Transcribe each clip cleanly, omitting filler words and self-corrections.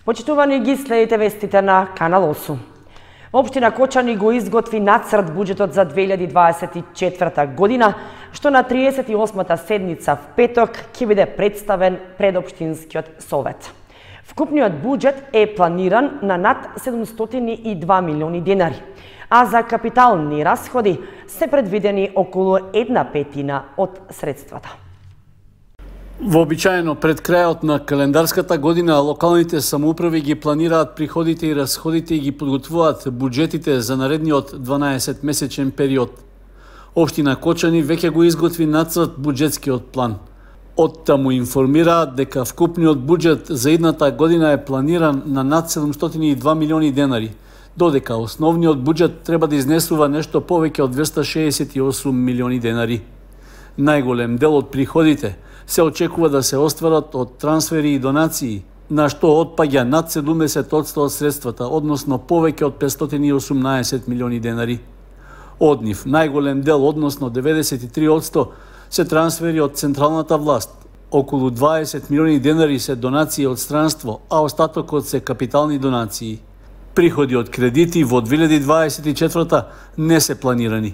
Почитувани, ги следите вестите на Канал 8. Општина Кочани го изготви нацрт буџетот за 2024 година, што на 38-та седница в петок ќе биде представен пред Општинскиот совет. Вкупниот буџет е планиран на над 702 милиони денари, а за капитални расходи се предвидени околу 1/5 од средствата. Вообичаено пред крајот на календарската година локалните самоуправи ги планираат приходите и расходите и ги подготвуваат буџетите за наредниот 12-месечен период. Општина Кочани веќе го изготви нацрт буџетскиот план. Од таму информираат дека вкупниот буџет за идната година е планиран на над 702 милиони денари, додека основниот буџет треба да изнесува нешто повеќе од 268 милиони денари. Најголем дел од приходите се очекува да се остварат од трансфери и донации, на што отпаѓа над 70% од средствата, односно повеќе од 518 милиони денари. Од нив најголем дел, односно 93%, се трансфери од централната власт. Околу 20 милиони денари се донации од странство, а остатокот се капитални донации. Приходи од кредити во 2024 не се планирани.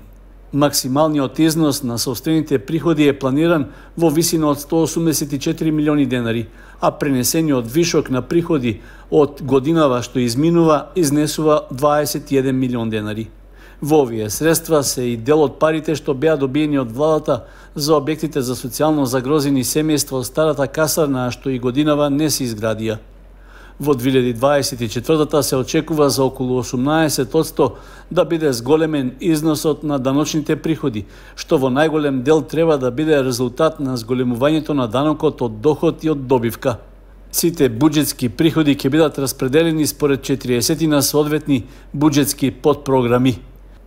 Максималниот износ на сопствените приходи е планиран во висина од 184 милиони денари, а пренесениот вишок на приходи од годинава што изминува изнесува 21 милион денари. Во овие средства се и дел од парите што беа добиени од владата за објектите за социјално загрозени семејства од старата касарна, што и годинава не се изградија. Во 2024 се очекува за околу 18% да биде зголемен износот на даночните приходи, што во најголем дел треба да биде резултат на зголемувањето на данокот од доход и од добивка. Сите буџетски приходи ќе бидат распределени според 40 на соодветни буџетски подпрограми.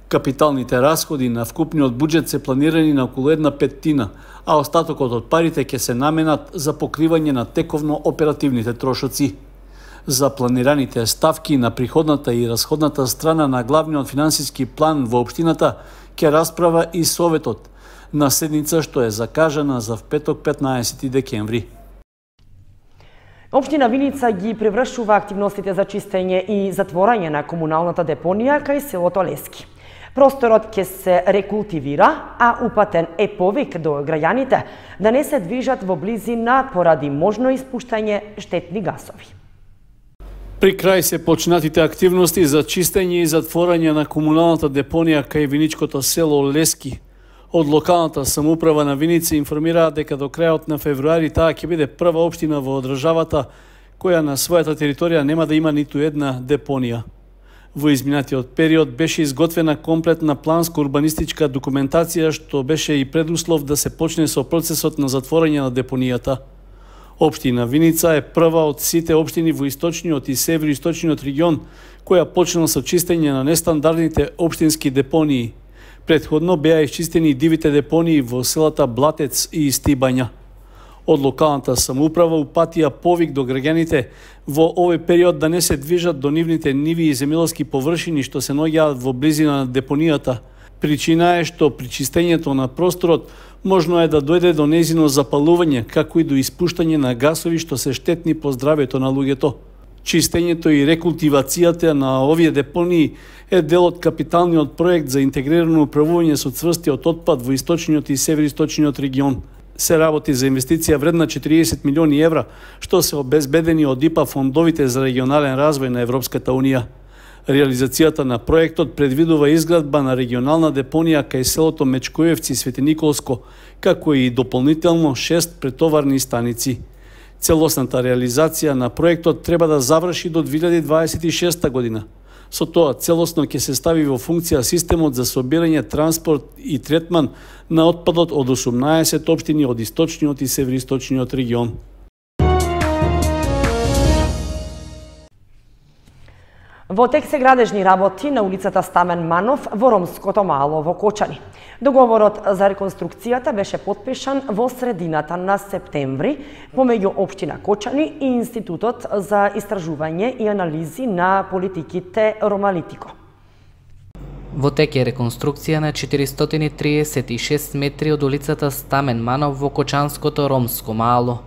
Капиталните расходи на вкупниот буџет се планирани на околу 1/5, а остатокот од парите ќе се наменат за покривање на тековно оперативните трошоци. За планираните ставки на приходната и расходната страна на главниот финансиски план во општината ќе расправа и советот на седница што е закажана за петок 15 декември. Општина Виница ги превршува активностите за чистење и затворање на комуналната депонија кај селото Лески. Просторот ќе се рекултивира, а упатен е повик до граѓаните да не се движат во близина поради можно испуштање штетни гасови. При крај се почнатите активности за чистење и затворање на комуналната депонија кај виничкото село Лески. Од локалната самоуправа на Виница информираат дека до крајот на февруари таа ќе биде прва општина во државата која на својата територија нема да има ниту една депонија. Во изминатиот период беше изготвена комплетна планско-урбанистичка документација што беше и предуслов да се почне со процесот на затворање на депонијата. Општина Виница е прва од сите општини во источниот и североисточниот регион која почна со чистење на нестандардните општински депонии. Претходно беа исчистени дивите депонии во селата Блатец и Стибања. Од локалната самоуправа упатија повик до граѓаните во овој период да не се движат до нивните ниви и земјоделски површини што се наоѓаат во близина на депонијата. Причина е што при чистењето на просторот можно е да дојде до нејзино запалување, како и до испуштање на гасови што се штетни по здравјето на луѓето. Чистењето и рекултивацијата на овие депонии е дел од капиталниот проект за интегрирано управување со цврстиот отпад во источниот и североисточниот регион. Се работи за инвестиција вредна 40 милиони евра, што се обезбедени од ИПА фондовите за регионален развој на Европската Унија. Реализацијата на проектот предвидува изградба на регионална депонија кај селото Мечкоевци Свети Николско, како и дополнително 6 претоварни станици. Целосната реализација на проектот треба да заврши до 2026 година. Со тоа целосно ќе се стави во функција системот за собирање, транспорт и третман на отпадот од 18 општини од источниот и североисточниот регион. Во тек се градежни работи на улицата Стамен Манов во Ромското мало во Кочани. Договорот за реконструкцијата беше подпишан во средината на септември помеѓу Општина Кочани и Институтот за истражување и анализи на политиките Ромалитико. Во тек е реконструкција на 436 метри од улицата Стамен Манов во Кочанското Ромско мало.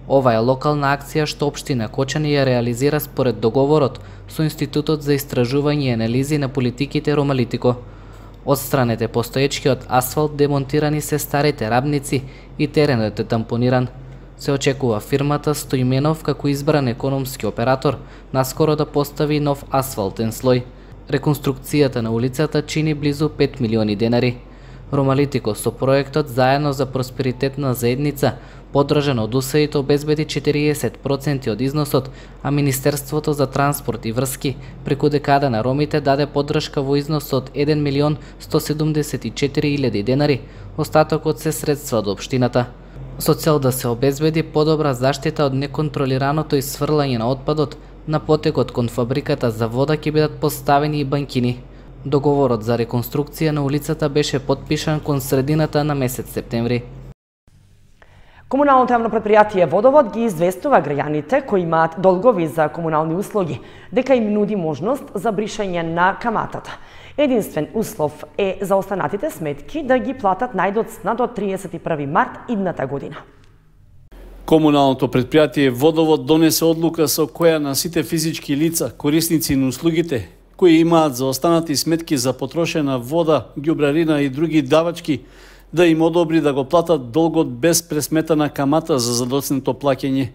Ова е локална акција што општина Кочани ја реализира според договорот со Институтот за истражување и анализи на политиките Ромалитико. Отстранете постоечкиот асфалт, демонтирани се старите рабници и теренот е тампониран. Се очекува фирмата Стоименов како избран економски оператор наскоро да постави нов асфалтен слој. Реконструкцијата на улицата чини близу 5 милиони денари. Ромалитико со проектот Заедно за просперитетна заедница, поддржан од УСАИД, обезбеди 40% од износот, а Министерството за транспорт и врски преку декада на ромите даде поддршка во износ од 1.174.000 денари, остатокот се средства од општината. Со цел да се обезбеди подобра заштита од неконтролираното исфрлање на отпадот, на потекот кон фабриката за вода ќе бидат поставени и банкини. Договорот за реконструкција на улицата беше потпишан кон средината на месец септември. Комуналното јавно предпријатие Водовод ги известува граѓаните кои имаат долгови за комунални услуги дека им нуди можност за бришање на каматата. Единствен услов е за останатите сметки да ги платат најдоцна до 31 март идната година. Комуналното предпријатие Водовод донесе одлука со која на сите физички лица, корисници на услугите, кои имаат заостанати сметки за потрошена вода, ѓубрарина и други давачки, да им одобри да го платат долгот без пресметана камата за задоцнето плаќање.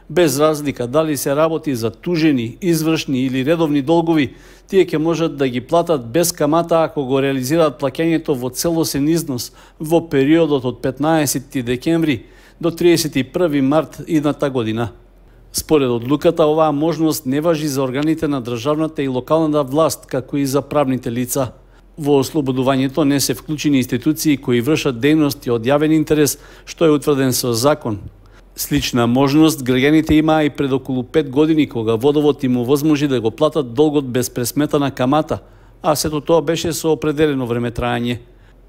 Без разлика дали се работи за тужени, извршни или редовни долгови, тие ќе можат да ги платат без камата ако го реализираат плаќањето во целосен износ во периодот од 15 декември до 31 март идната година. Според одлуката, оваа можност не важи за органите на државната и локалната власт, како и за правните лица. Во ослободувањето не се вклучени институции кои вршат дејности од јавен интерес, што е утврден со закон. Слична можност граѓаните имаа и пред околу 5 години, кога Водовод им овозможи да го платат долгот без пресметана камата, а сето тоа беше со определено време трајање.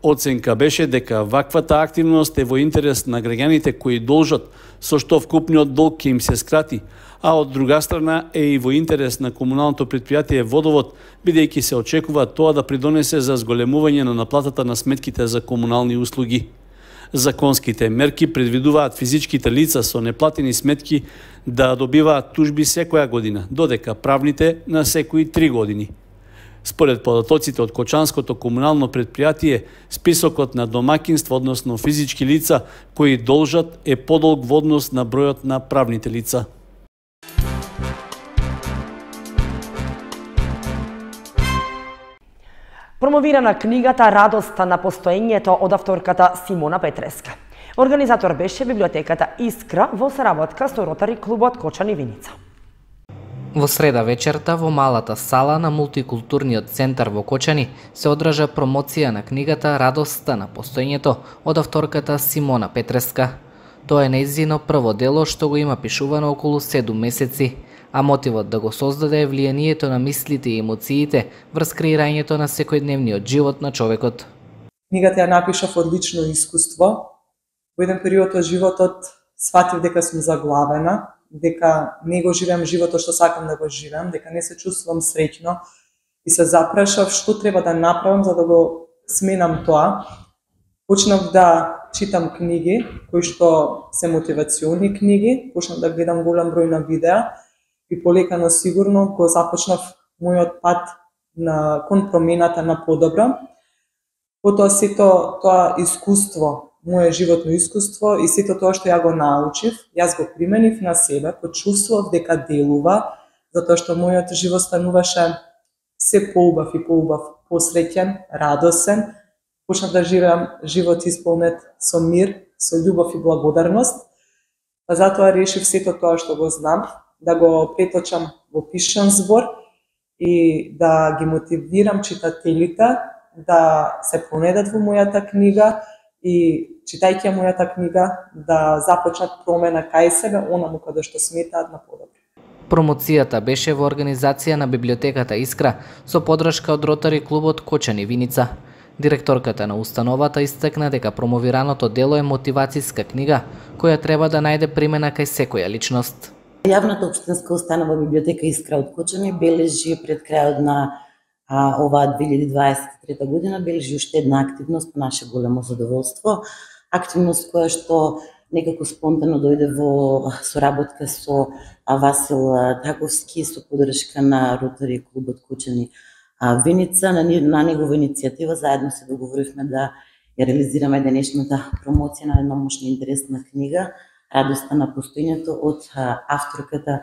Оценка беше дека ваквата активност е во интерес на граѓаните кои должат, со што вкупниот долг ќе им се скрати, а од друга страна е и во интерес на комуналното предпријатие Водовод, бидејќи се очекува тоа да придонесе за зголемување на наплатата на сметките за комунални услуги. Законските мерки предвидуваат физичките лица со неплатени сметки да добиваат тужби секоја година, додека правните на секои 3 години. Според податоците од Кочанското комунално предпријатие, списокот на домакинства, односно физички лица кои должат, е подолг во однос на бројот на правните лица. Промовирана книгата Радоста на постоењето од авторката Симона Петреска. Организатор беше библиотеката Искра во соработка со Ротари клубот Кочани Виница. Во среда вечерта во малата сала на мултикултурниот центар во Кочани се одржа промоција на книгата Радоста на постоењето од авторката Симона Петреска. Тоа е нејзино прво дело што го има пишувано околу 7 месеци, а мотивот да го создаде е влијанието на мислите и емоциите врз креирањето на секојдневниот живот на човекот. Книгата ја напишав од лично искуство. Во еден период од животот сфатив дека сум заглавена, дека не го живеам животот што сакам да го живеам, дека не се чувствувам среќно и се запрашав што треба да направам за да го сменам тоа. Почнав да читам книги кои што се мотивациони книги, почнав да гледам голем број на видеа и полека но сигурно го започнав мојот пат кон промената на подобро. Потоа сето тоа искуство, моје животно искуство и сето тоа што ја го научив, јас го применив на себе, почувствував дека делува, затоа што мојот живот стануваше се поубав и поубав, посреќен, радосен. Почнав да живеам живот исполнет со мир, со љубов и благодарност. Па затоа решив сето тоа што го знам, да го преточам во пишан збор и да ги мотивирам читателите да се понедат во мојата книга и читајќи мојата книга да започнат промена кај себе, онаму каде што сметаат на подобро. Промоцијата беше во организација на библиотеката Искра со поддршка од Ротари клубот Кочани Виница. Директорката на установата истакна дека промовираното дело е мотивацијска книга која треба да најде примена кај секоја личност. Јавната општинска установа библиотека Искра од Кочани бележи пред крајот на оваа 2023 година бележи уште една активност по наше големо задоволство. Активност која што некако спонтано дојде во соработка со Васил Таковски, со поддршка на Ротари клубот Кочани Виница. На негова иницијатива заедно се договоривме да ја реализираме денешната промоција на една мощна интересна книга Радоста на постоењето од авторката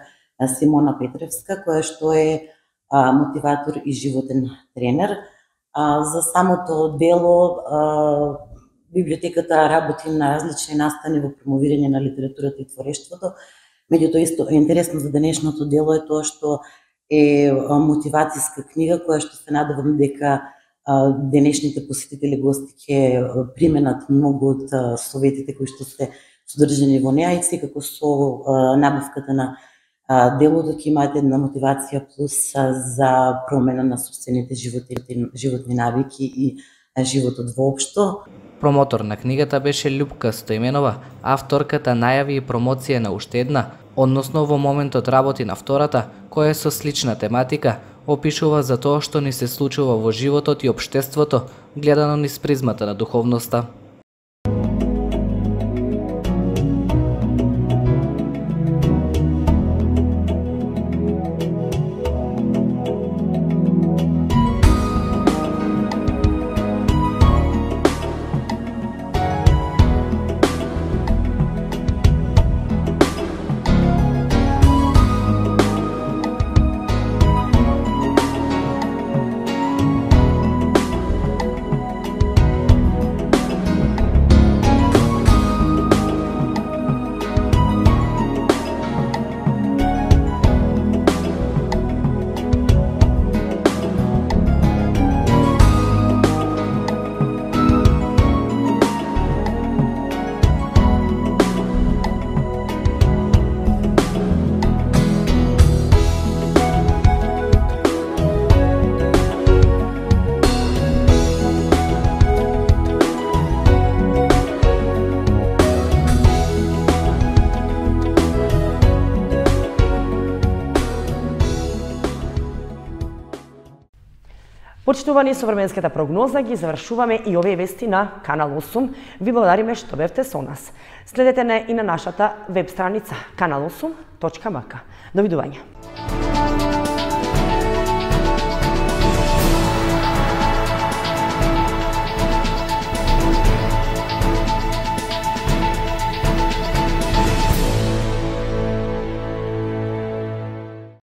Симона Петревска, која што е мотиватор и животен тренер. За самото дело библиотеката работи на различни настани во промовирање на литературата и творештвото. Меѓутоа исто интересно за денешното дело е тоа што е мотивацијска книга која што се надевам дека денешните посетители гости ќе применат многу од советите кои што се содржани во неа, и секако со набавката на делото ќе имаат една мотивација плюс за промена на собствените животни навики и животот воопшто. Промотор на книгата беше Љупка Стоименова. Авторката најави и промоција на уште една, односно во моментот работи на втората, која е со слична тематика, опишува за тоа што ни се случува во животот и општеството, гледано низ призмата на духовноста. Почитувани, со временската прогноза ги завршуваме и овие вести на Канал 8. Ви благодариме што бевте со нас. Следете не и на нашата веб страница kanal8.mk. Довидување.